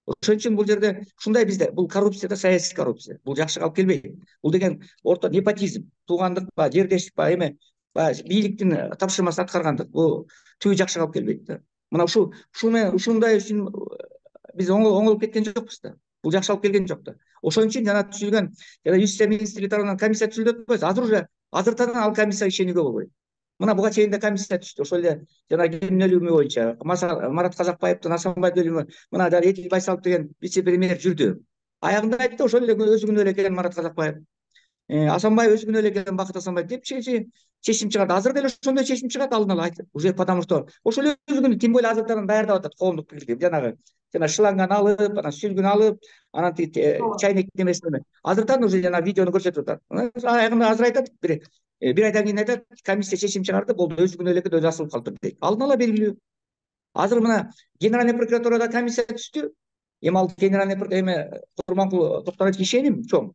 S2: Ошон үчүн бул жерде ушундай бизде бул коррупция да, саясий коррупция. Бул жакшыга алып келбейт. Бул деген орто непотизм, туугандык ба, жердештик ба, эме бийликтин тапшырмасын аткаргандык. Бул түбү жакшыга алып келбейт да. Мына ушундай үчүн биз оңолуп кеткен жокпуз да. Бул жакшы алып келген жок да. Ошон үчүн жана түзүлгөн Юстиция министрлиги тарабынан комиссия түзүлөт эмес. Азыртадан ал комиссияга ишенүүгө болбойт. Мына буга чейин да комиссия түштү. Ошол эле жана кимдин өлүмү боюнча Марат Казакбаевдин, Асанбайдын өлүмү, мына жана Этик Байсалов деген вице-премьер жүрдү. Аягында айтты, ошол эле өзү күнөө эле экен Марат Казакбаев. Асанбаев өзү күнөө эле экен, Бакыт Асанбаев деп чечим чыгарды. Азыр деле ошондой чечим чыгат, алдын ала айтып. Уже потому что ошол эле өзү күнөө тем более азыртадан даярдап атат коомдук пикирди. Жана шланганы алып, анан сүлгүн алып, анан чайник немесин азыртан уже жана видеону көрсөтүп атат. Аягында азыр айтат, бир айдан кийин айтат, комиссия чечим чыгарды, болду, өзү күнөө эле өзү асылып калды дейт. Алдын ала белгилүү. Азыр мына генеральный прокуратурада комиссия түштү. Эми ал генеральный Курманкул Токторовичке ишеним чоң.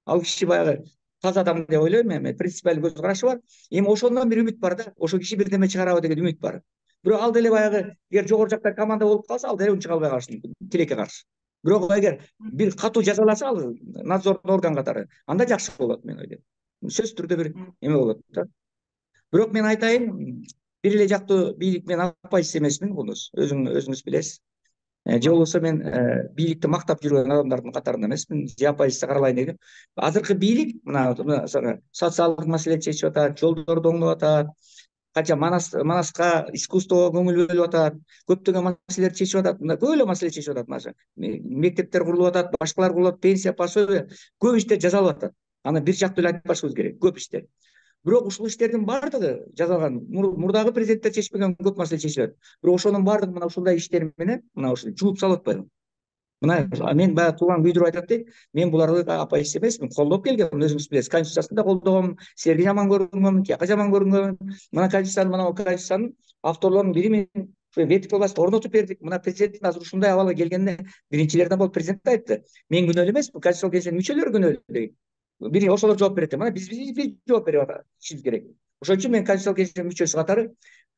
S2: Ал киши баягы таза адам деп ойлойм, эми принципиалдуу көз карашы бар. Эми ошондон бир үмүт бар да, ошол киши бирдеме чыгарабы деген үмүт бар. Бирок ал деле баягы эгер жогору жактан команда болуп калса, ал деле унчук албай калышы мүмкүн, тилекке каршы. Бирок эгер бир катуу жазаласа ал надзордуу орган катары, анда жакшы болот мен ойлойм. Сөзсүз түрдө бир эме болот да. Бирок мен айтайын, бир эле жактуу бийлик мен апайсыз эмесмин, өзүңүз билесиз. Же болбосо мен бийликти мактап жүргөн адамдардын катарында эмесмин, же апайсыз каралайын дегем. Азыркы бийлик мына социалдык маселени чечип атат, жолдорду оңдоп атат, канча Манаска, искусствого көңүл бөлүп атат, көптөгөн маселелерди чечип атат, мына көп эле маселе чечип атат. Мына мектептер курулуп атат, башкалар курулуп атат, пенсия, пособие, көп иштер жасалып атат. Аны бир жактуу эле айтпашыбыз керек, көп иштер. Бирок ушул иштердин баардыгы жасалган, мурдагы президенттер чечпеген көп маселе чечилет. Бирок ошонун баардыгы мына ушундай иштер менен мына ушул жууп салып атпайбы? Мына мен баягы тууган күйдүрүп айтат дейт, мен буларды апайсыз эмесмин, колдоп келгем, өзүңүз билесиз, конституциясын да колдогом, силерге жаман көрүнгөнмүн, тияка жаман көрүнгөнмүн. Мына конституциянын авторлорунун бири мен ветик власть орнотуп бердик. Мына президенттин азыр ушундай абалга келгенине биринчилерден болуп президент айтты. Мен күнөөлүү эмесмин, конституциялык кеңештин мүчөлөрү күнөөлүү дейт. Бир ошолор жооп берет. Мына биз жооп берип атышыбыз керек. Ошон үчүн мен конституциялык кеңештин мүчөсү катары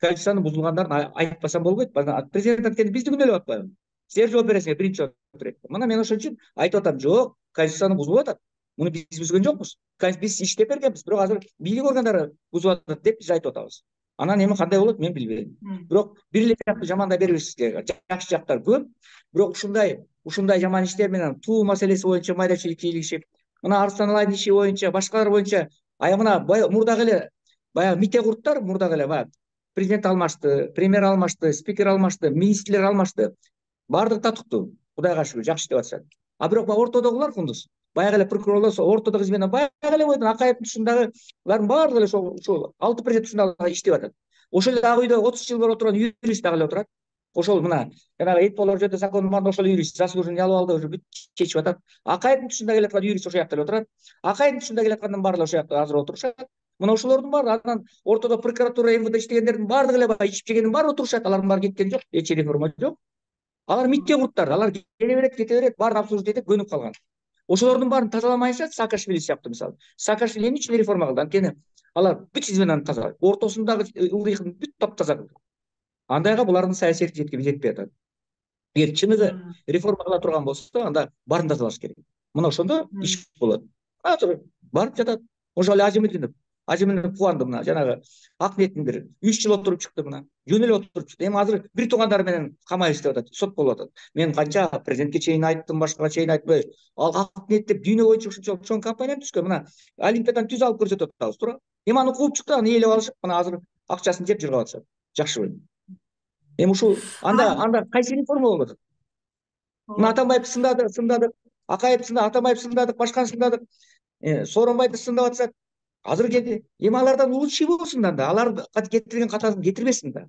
S2: конституциянын бузулгандарын айтпасам болбойт. Президент анткени бизди күнөөлөп атпайбы? Силер жооп бересиңер, биринчи отурет. Мына мен ошон үчүн айтып атам, жок, конституцияны бузулуп атат. Муну биз бүзгөн жокпуз. Биз иштеп бергенбиз, бирок азыр бийлик органдары бузуп атат деп биз айтып атабыз. Анан эми кандай болот мен билбейм. Бирок бир эле жакты жамандай бербешибиз керек. Жакшы жактар көп, бирок ушундай жаман иштер менен туу маселеси боюнча майда-чүйүк кийлигишип, мына Арслан Алайдын иши боюнча, башкалар боюнча, мына мурдагы эле баягы мите курттар, мурдагы эле баягы президент алмашты, премьер алмашты, спикер алмашты, министрлер алмашты. Баардыгы татыктуу, Кудайга шүгүр, жакшы иштеп атышат. Бирок ортодогулар кундуз. Баягы эле прокурорлор, ортодогу изменен баягы эле бойдон Акаевдин ушундагылардын баардыгы эле ошол 6% ушундай иштеп атат. Ошол эле ак үйдө 30 жыл бери отурган юрист дагы эле отурат. Ошол мына жанагы Эпполор жөнүндө закондун баардыгы ошол юрист заслуженный алып алды, уже бүт чечип атат. Акаевдин ушундай келаткан юрист ошол жакта эле отурат. Акаевдин ушундай келаткандын баары ошол жакта азыр отурушат. Мына ошолордун баары, анан ортодо прокуратура, МВД иштегендердин баардыгы эле баягы ичип жегендин баары отурушат. Алардын баары кеткен жок, эч реформа жок. Алар митте курттар, алар келе берет, кете берет, баарын обслуживать этип көнүп калган. Ошолордун баарын тазаламайынча Саакашвили сыяктуу мисалы. Саакашвили эмне үчүн реформа кылды? Анткени алар бүт изменаны тазалайды. Ортосундагы ылдыйын бүт таптаза кылды. Андайга булардын саясий жетпей атат. Эгер чыныгы реформа кыла турган болсо, анда баарын тазалаш керек. Мына ошондо иш болот. Азыр барып жатат. Ошол эле Ажимдин кубанды мына жанагы ак ниеттин бир 3 жыл отуруп чыкты мына. Жөн эле отуруп чыкты. Эми азыр бир туугандары менен камайбыз деп атат, сот болуп атат. Мен канча президентке чейин айттым, башкага чейин айтпай, ал ак ниет деп дүйнө боюнча ушунча чоң компания түзгөн. Мына Олимпиядан түз алып көрсөтүп атабыз, туура. Эми аны кууп чыкты, аны ээлеп алышып, мына азыр акчасын жеп жыргап атышат. Жакшыбы? Эми ушул анда кайсы реформа болуп атат? Мына Атамбаев сындадык, Акаев сындадык, Атамбаев сындадык, башканы сындадык, Сооронбайды сындап атышат. Азыр келди. Эми алардан лучший болсун да, алар кетирген катасын кетирбесин да.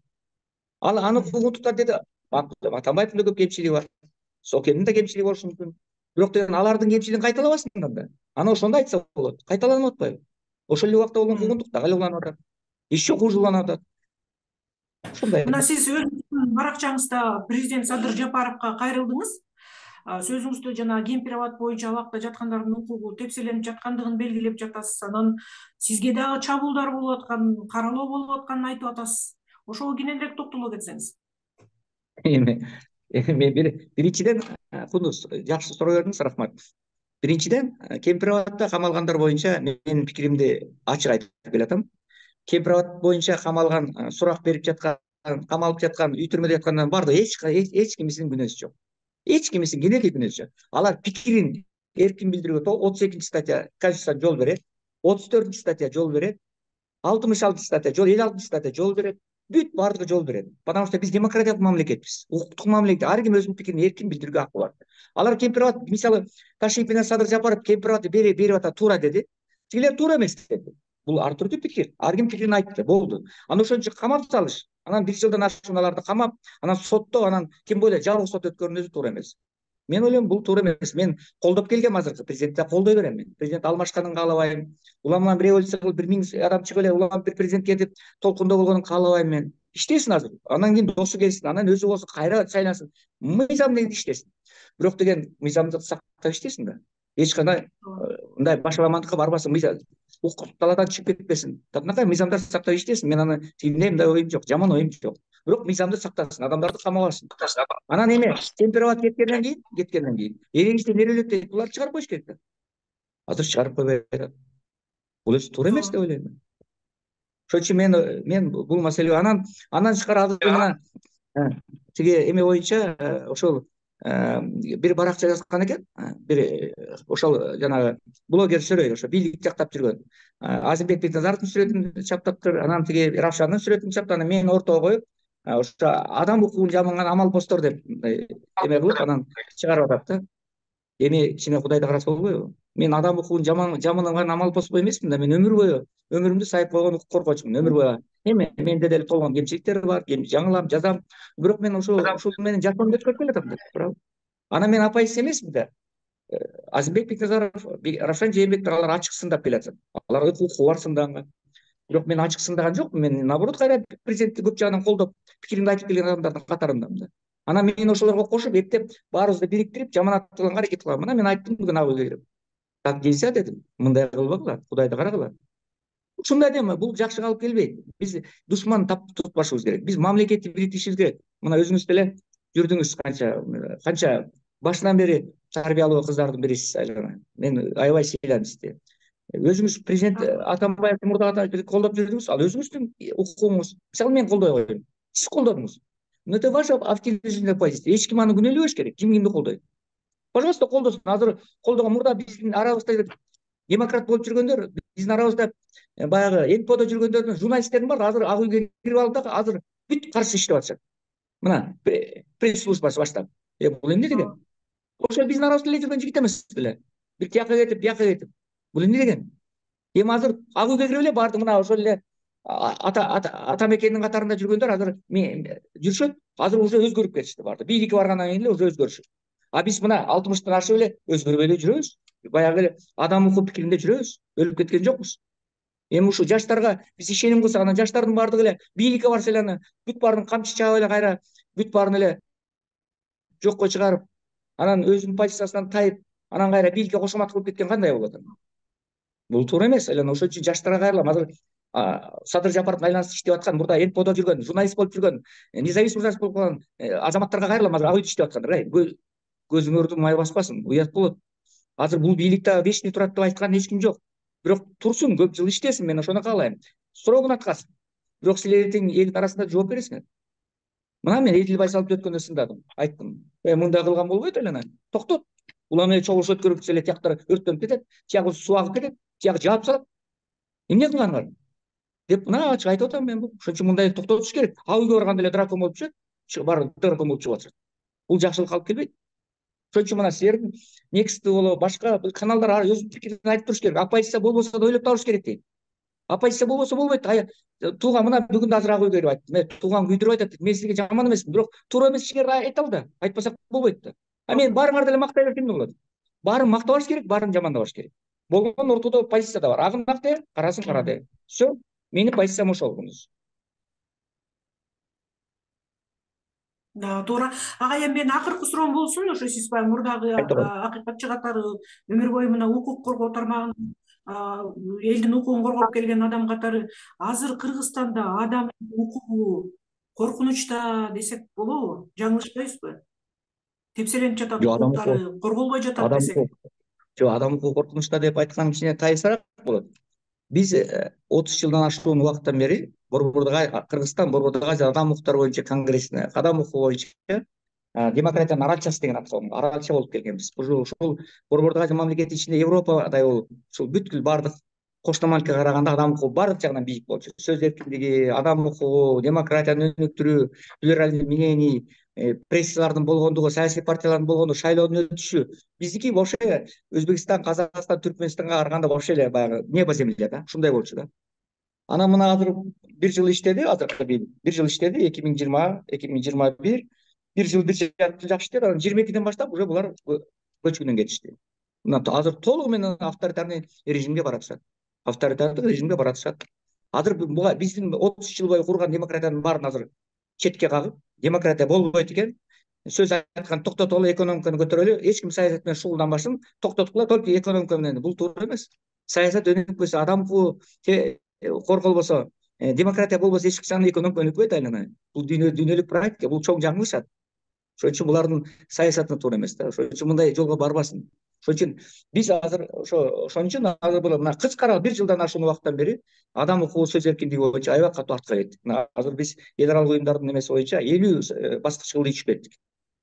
S2: Аны куугунтуктар деди. Атамбаевдин да көп кемчилиги бар. Сокенин да кемчилиги болушу мүмкүн. Бирок деген алардын кемчилигин кайталабасын да. Аны ошондо айтса болот. Кайталанып атпайбы? Ошол эле убакта болгон куугунтук дагы эле уланып атат. Еще хуже уланып атат. Ушундай.
S1: Мына сиз өзүңүздүн баракчаңызда президент Садыр Жапаровго кайрылдыңыз. Сөзүңүздө жана кемпир абад боюнча абакта жаткандардын укугу тепселенип жаткандыгын белгилеп жатасыз. Анан сизге дагы чабуулдар болуп атканын, каралоо болуп атканын айтып атасыз. Ошого кененирээк токтоло кетсеңиз.
S2: Мен биринчиден кундуз жакшы суроо бердиңиз, рахмат. Биринчиден кемпир абадда камалгандар боюнча менин пикиримди ачык айтып келатам. Кемпир абад боюнча камалган, сурак берип жаткан, камалып жаткан, үй түрмөдө жаткандардын баардыгы эч кимисинин күнөөсү жок. Эч кимисинин кенеки күнөөсү жок. Алар пикирин эркин билдирүүгө 32 статья Конституцияда жол берет, 34 статья жол берет, 66 статья жол, 56 статья жол берет. Бүт баардыгы жол берет. Потому что биз демократиялык мамлекетпиз. Укуктук мамлекет. Ар ким өзүнүн пикирин эркин билдирүүгө акы бар. Алар кемпир абад, мисалы, Ташиев менен Садыр Жапаров кемпир абадты берип атат, туура деди. Тигилер туура эмес деди. Бул ар түрдүү пикир. Ар ким пикирин айтты, болду. Анан ошон үчүн камап салыш. Анан 1 жылдан ашкан аларды камап, анан соттоо, анан ким бойлойт жабык сот өткөрүүнүн өзү туура эмес. Мен ойлойм бул туура эмес. Мен колдоп келгем азыркы президентти, колдой берем мен. Президент алмашканын каалабайм. Уламан бир революция кылып 1000 адам чыгып эле улам бир президентке деп толкундоо болгонун каалабайм мен. Иштесин азыр. Анан кийин досу келсин, анан өзү болсо кайра шайлансын. Мыйзам негизинде иштесин. Бирок деген мыйзамды сактап иштесин да. Эч кандай мындай башаламандыкка барбасын, укук талаадан чыгып кетпесин. Татынакай мыйзамдарды сактап иштесин. Мен аны тигиндей мындай оюм жок, жаман оюм жок. бирок мыйзамды сактасын, адамдарды камабасын. Анан эме темперовать кеткенден кийин эрегичтен нерелет дейт, буларды чыгарып коюш керек да. Азыр чыгарып койбой атат. Бул өзү туура эмес деп ойлойм мен. Ошон үчүн мен бул маселе андан тышкары азыр мына тиги эме боюнча ошол бир баракча жазган экен, бир ошол жанагы блогер Сөрөй, ошо бийлик жактап жүргөн Азимбек Бекназаровдун сүрөтүн чаптаптыр, анан тиги Равшандын сүрөтүн чаптап, анан мени ортого коюп, ошо адам укугун жамыган амалпоздор деп эме кылып анан чыгарып атат да. Эми кичине Кудайда караса болбойбу? Мен адам укугун жамыган амалпоз эмесмин да, мен өмүр бою өмүрүмдү сайып койгон укук коргоочумун, өмүр бою. Эми менде деле толгон кемчиликтер бар, жаңылам, жазам, бирок мен ушул менен жашоомду өткөрүп келатам да, туурабы? Анан мен апайсыз эмесмин да. Азимбек Бекназаров, Равшан Жээнбектер алар ачык сындап келатат. Алар укугу бар сындаган. Бирок мен ачык сындаган жокмун. Мен наоборот кайра президентти көп жагынан колдоп, пикиримди айтып келген адамдардын катарындамын да. Анан мен ошолорго кошуп, эптеп баарыбызды бириктирип, жаманат кылганга аракет кылам. Анан мен айттым бүгүн ак үйгө кирип. Так нельзя дедим. Мындай кылбагыла, Кудайды карагыла. Ушундай эме бул жакшы алып келбейт. Биз душман тутпашыбыз керек. Биз мамлекетти бириктиришибиз керек. Мына өзүңүз деле жүрдүңүз канча башынан бери тарбиялуу кыздардын бирисиз Айлана. Мен аябай сыйлайм сизди. Өзүңүз президент Атамбаевди мурда колдоп жүрдүңүз, ал өзүңүздүн укугуңуз. Мисалы мен колдой коеюн. Сиз колдодуңуз. Но это ваша активная позиция. Эч ким аны күнөөлөбөш керек. Ким кимди колдойт. Пожалуйста, колдосын. Азыр колдогон мурда биздин арабызда демократ болуп жүргөндөр, биздин арабызда баягы НПОдо жүргөндөрдүн журналисттердин бар, азыр ак үйгө кирип алып да азыр бүт каршы иштеп атышат. Мына пресс службасы баштап. Бул эмне деген? Ошо биздин арабызда эле жүргөн жигит эмес беле. Бир тияка кетип, бияка кетип. Бул эмне деген? Эми азыр ак үйгө кирип эле баардык мына ошол эле ата мекендин катарында жүргөндөр азыр жүрүшөт. Азыр уже өзгөрүп кетишти баардык. Бийликке баргандан кийин эле уже өзгөрүшөт. А биз мына 60-тан ашып эле өзгөрбөй эле жүрөбүз. Баягы эле адам укук пикиринде жүрөбүз. Өлүп кеткен жокпуз. Эми ушу жаштарга биз ишеним кылсак, анан жаштардын баардыгы эле бийликке барса эле аны бүт баарын камчы чаап эле кайра бүт баарын эле жокко чыгарып, анан өзүнүн позициясынан тайып, анан кайра бийликке кошомат кылып кеткен кандай болот? Бул туура эмес. Ошон үчүн жаштарга кайрылам. Азыр Садыр Жапаровдун айланасы иштеп аткан, мурда НПОдо жүргөн, журналист болуп жүргөн, независимый журналист болуп калган азаматтарга кайрылам. Азыр ак үйдө иштеп аткандар. Көзүңөрдү май баспасын, уят болот. Азыр бул бийликте вечный турат деп айткан эч ким жок. Бирок турсун, көп жыл иштесин, мен ошону каалайм. Срогун аткарсын. Бирок силер эртең элдин арасында жооп бересиңер. Мына мен Эдил Байсаловду өткөндө сындадым, айттым. Мындай кылган болбойт эле. Токтот. Улам эле чогулуш өткөрүп эле тияктар өрттөнүп кетет, тиягы суу агып кетет, тиягы жаап салат. Эмне кылганыңар? Деп мына ачык айтып атам мен бул. Ошон үчүн мындай токтотуш керек. Ак үйгө барганда эле дракон болуп чыгат, баары дракон болуп чыгып атышат. Бул жакшылык алып келбейт. Ошон үчүн мына силердин Next болобу, башка каналдар өзүнүн пикирин айтып туруш керек. Оппозиция болбосо да ойлоп табыш керек дейт. Оппозиция болбосо болбойт. Тууган мына бүгүн да азыр ак үйгө кирип айттым. Тууган күйдүрүп айтат. Мен сизге жаман эмесмин, бирок туура эмес ишкер айта ал да. Айтпасак болбойт да. Мен баарыңарды эле мактай берсем эмне болот? Баарын мактабаш керек, баарын жамандабаш керек. Болгон ортодо позиция да бар. Агын ак де, карасын кара де. Все. Менин позициям ошол.
S1: Туура. Ага, эми менин акыркы суроом болсун, ошо сиз баягы мурдагы акыйкатчы катары өмүр бою мына укук коргоо тармагын элдин укугун коргоп келген адам катары азыр Кыргызстанда адам укугу коркунучта десек болобу? Жаңылышпайбызбы? Тепселенип жатат, укуктары корголбой жатат десек.
S2: Жок, адам укугу коркунучта деп айткан кичине тайысыраак болот. Биз 30 жылдан ашуун убакыттан бери Кыргызстан Борбордук Азия адам укуктары боюнча конгрессине, адам укугу боюнча демократиянын аралчасы деген аталган аралча болуп келгенбиз. Ушул Борбордук Азия мамлекети ичинде Европадай болуп, ушул бүткүл баардык кошуна мамлекетке караганда адам укугу баардык жагынан бийик болчу. Сөз эркиндиги, адам укугу, демократияны өнүктүрүү, плюрализм мнений, прессалардын болгондугу, саясий партиялардын болгондугу, шайлоодун өтүшү. Биздики вообще Өзбекстан, Казакстан, Түркмөнстанга караганда вообще эле баягы небо земля да, ушундай болчу да. Анан мына азыр бир жыл иштеди, азыркы бир жыл иштеди, 2020-2021, бир жыл жакшы иштеди, анан 22-ден баштап уже булар көчкүнөн кетишти. Мына азыр толугу менен авторитарный режимге баратышат. Авторитардык режимге баратышат. Азыр биздин 30 жыл бою курган демократиянын баарын азыр четке кагып, демократия болбойт экен, сөз айткан токтотолу, экономиканы көтөрөлү, эч ким саясат менен шугулданбашын, токтоткула, только экономика менен. Бул туура эмес. Саясат өнүкпөсө, адам укугу корголбосо, демократия болбосо эч качан экөөнүн өнүкпөйт айлана. Бул дүйнөлүк практика, бул чоң жаңылышат. Ошон үчүн булардын саясаты туура эмес да. Ошон үчүн мындай жолго барбасын. Ошон үчүн биз азыр ошон үчүн азыр мына кыскара 1 жылдан ашуун убакыттан бери адам укугу сөз эркиндиги боюнча аябай катуу артка кеттик. Азыр биз эл аралык уюмдардын эмеси боюнча 50 баскычка ичип кеттик.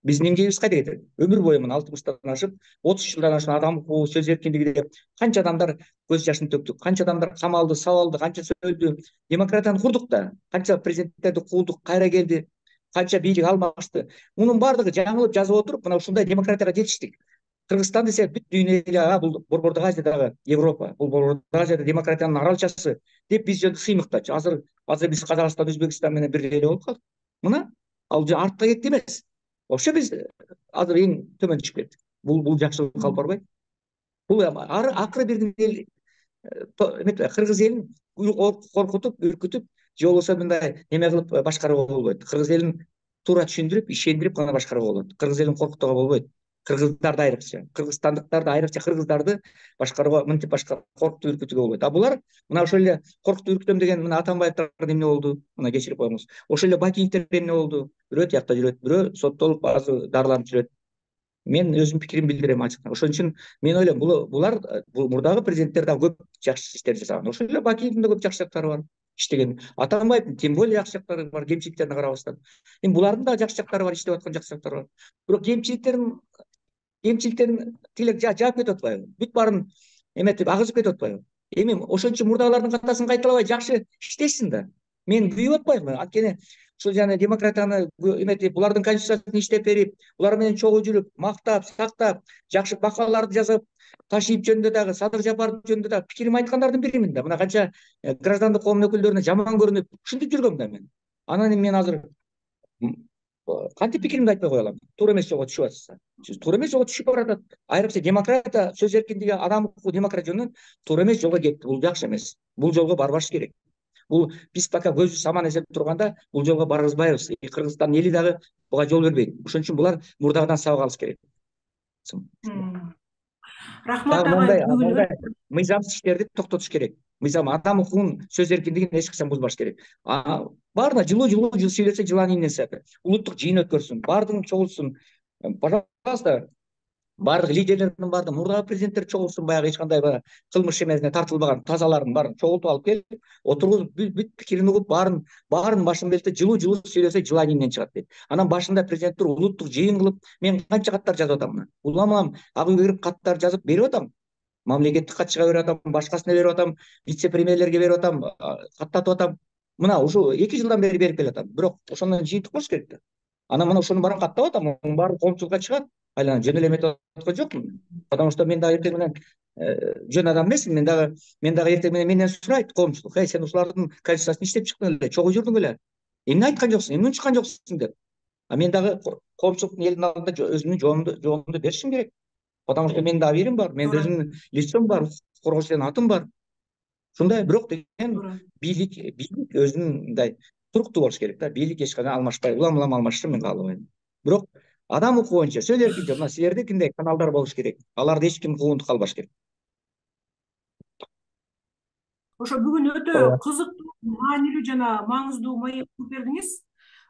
S2: Биздин деңгейибиз кайда кетет? Өмүр бою мына 60 ашып, 30 жылдан ашуун адам укугу сөз эркиндиги деп канча адамдар көз жашын төктүк, канча адамдар камалды, сабалды, канчасы өлдү. Демократияны курдук да, канча президенттерди куудук, кайра келди, канча бийлик алмашты. Мунун баардыгы жаңылып жазып отуруп, мына ушундай демократияга жетиштик. Кыргызстан десе бүт дүйнө эле бул Борбордук Азиядагы Европа, бул Борбордук Азияда демократиянын аралчасы деп биз жөн сыймыктачу. Азыр биз Казакстан, Өзбекстан менен бир эле болуп калдык. Мына ал артка кетти эмес. Ошо биз азыр эң төмөн түшүп кеттик. Бул жакшылыкка алып барбайт. Бул акыры бир эл кыргыз элин коркутуп, үркүтүп, же болбосо мындай неме кылып башкарууга болбойт. Кыргыз элин туура түшүндүрүп, ишендирип гана башкарууга болот. Кыргыз элин коркутууга болбойт. Кыргыздарды айрыкча, кыргызстандыктарды айрыкча кыргыздарды башкарууга мынтип коркутуп, үркүтүүгө болбойт. А булар мына ошол эле коркутуп, үркүтөм деген мына Атамбаевдер эмне болду? Мына кечирип коюңуз. Ошол эле Бакиевдер эмне болду? Бирөө тиякта жүрөт, бирөө соттолуп, азыр дарыланып жүрөт. Мен өзүмдүн пикиримди билдирем ачык. Ошон үчүн мен ойлойм, булар мурдагы президенттер да көп жакшы иштер жасаган. Ошол эле Бакиевдин да көп жакшы жактары бар. Иштеген. Атамбаевдин тем более жакшы жактары бар, кемчиликтерине карабастан. Эми булардын да жакшы жактары бар, иштеп аткан жакшы жактары бар. Бирок кемчиликтерин тилек жаап кетип атпайбы? Бүт баарын эметип агызып кетип атпайбы? Эми ошон үчүн мурдагылардын катасын кайталабай жакшы иштешсин да. Мен күйүп атпаймынбы? Анткени ушул жана демократияны эметип, булардын конституциясын иштеп берип, булар менен чогуу жүрүп, мактап, сактап, жакшы макалаларды жазып, Ташиев жөнүндө дагы, Садыр Жапаров жөнүндө дагы пикирим айткандардын биримин да. Мына канча граждандык коомдун өкүлдөрүнө жаман көрүнүп, ушинтип жүргөм да мен. Анан мен азыр кантип пикиримди айтпай кое алам? Туура эмес жолго түшүп атса. Туура эмес жолго түшүп баратат. Айрыкча демократия, сөз эркиндиги, адам укугу демократия жөнүнөн туура эмес жолго кетти. Бул жакшы эмес. Бул жолго барбаш керек. Бул биз пока көзүбүз аман эсен турганда бул жолго баргызбайбыз. Кыргызстан эли дагы буга жол бербейт. Ошон үчүн булар мурдагыдан сабак алыш керек.
S1: Рахмат агай.
S2: Мыйзамсыз иштерди токтотуш керек. Мыйзам адам укугун, сөз эркиндигин эч качан бузбаш керек. Баарына жылуу сүйлөсө жылан ийинен сыяты. Улуттук жыйын өткөрсүн, баардыгын чогултсун. Пожалуйста, баардык лидерлердин баардыгы, мурдагы президенттер чогултсун, баягы эч кандай кылмыш эмесине тартылбаган тазаларын баарын чогултуп алып келип, отуруп бүт пикирин угуп, баарын башын белте жылуу сүйлөсө жылан ийинен чыгат дейт. Анан башында президенттер улуттук жыйын кылып, мен канча каттар жазып атам мына. Уламам, ак үйгө кирип каттар жазып берип атам. Мамлекеттик катчыга берип атам, башкасына берип атам, вице-премьерлерге берип атам, каттатып атам. Мына ушу 2 жылдан бери берип келатам. Бирок ошондон жыйынтык болуш керек да. Анан мына ошонун баарын каттап атам, мунун баары коомчулукка чыгат. Айлана жөн эле эметип аткан жокмун. Потому что мен дагы эртең менен жөн адам эмесмин. Мен дагы эртең менен менден сурайт коомчулук. Сен ушулардын конституциясын иштеп чыктың эле, чогуу жүрдүң эле. Эмне айткан жоксуң, эмне унчуккан жоксуң деп. А мен дагы коомчулуктун элдин алдында өзүмдүн жообумду беришим керек. Потому что менин дагы биrim бар, менин өзүмдүн лицом бар, коргоочу деген атым бар. Ушундай, бирок деген бийлик өзүнүн мындай туруктуу болуш керек да. Бийлик эч качан алмашпай, улам алмашышын мен каалабайм. Бирок адам укугу боюнча сөз эркиндиги, мына силердикиндей каналдар болуш керек. Аларды эч ким куугунтуп калбаш керек.
S1: Ошо бүгүн өтө кызыктуу, маанилүү жана маңыздуу маек бердиңиз.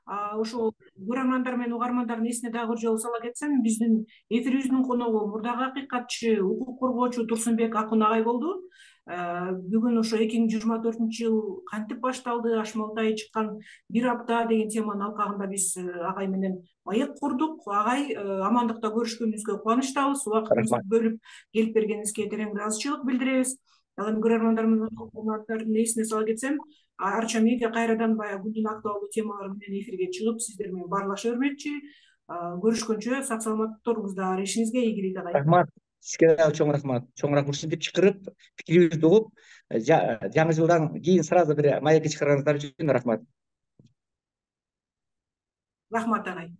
S1: Ошо көрөрмандар менен угармандардын эсине дагы бир жолу сала кетсем, биздин эфирибиздин коногу мурдагы акыйкатчы, укук коргоочу Турсунбек Акун агай болду. Бүгүн ошо 2024-жыл кантип башталды, Ашмалтай чыккан 1 апта деген теманын алкагында биз агай менен маек курдук. Агай, амандыкта көрүшкөнүбүзгө кубанычтабыз. Убактыңызды бөлүп келип бергениңизге терең ыраазычылык билдиребиз. Ал эми көрөрмандар менен угармандардын эсине сала кетсем, Арча медиа кайрадан баягы күндүн актуалдуу темалары менен эфирге чыгып, сиздер менен баарлаша бермекчи. Көрүшкөнчө сак саламатта туруңуздар. Ишиңизге ийгилик агай.
S2: Рахмат. Сизге дагы чоң рахмат. Чоң рахмат ушинтип чакырып, пикирибизди угуп, жаңы жылдан кийин сразу бир маекке чакырганыңыздар үчүн рахмат.
S1: Рахмат агай.